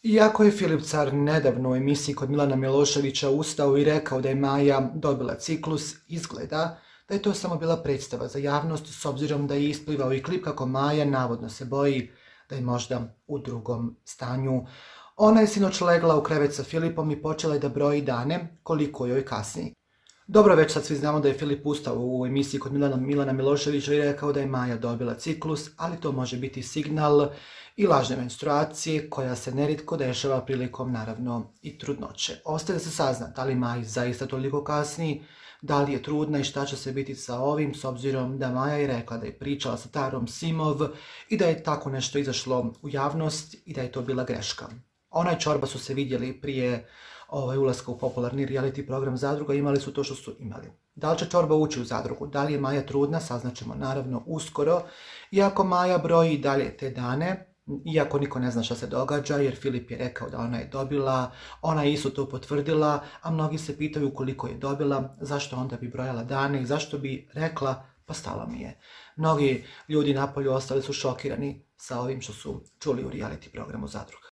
Iako je Filip Car nedavno u emisiji kod Milana Miloševića ustao i rekao da je Maja dobila ciklus, izgleda da je to samo bila predstava za javnost, s obzirom da je isplivao i klip kako Maja navodno se boji da je možda u drugom stanju. Ona je sinoć legla u krevet sa Filipom i počela je da broji dane koliko joj kasni. Dobro, već sad svi znamo da je Filip ustao u emisiji kod Milana Miloševića i rekao da je Maja dobila ciklus, ali to može biti signal i lažne menstruacije koja se nerijetko dešava prilikom, naravno, i trudnoće. Ostaje da se sazna da li Maji zaista toliko kasni, da li je trudna i šta će se biti sa ovim, s obzirom da Maja je rekla da je pričala sa Tarom Simov i da je tako nešto izašlo u javnost i da je to bila greška. Ona i Čorba su se vidjeli prije ulaska u popularni reality program Zadruga, imali su to što su imali. Da li će Čorba ući u Zadrugu, da li je Maja trudna, saznaćemo naravno uskoro. Iako Maja broji i dalje te dane, iako niko ne zna šta se događa, jer Filip je rekao da ona je dobila, ona je isto to potvrdila, a mnogi se pitaju koliko je dobila, zašto onda bi brojala dane i zašto bi rekla pa stalo mi je. Mnogi ljudi napolju ostali su šokirani sa ovim što su čuli u reality programu Zadruga.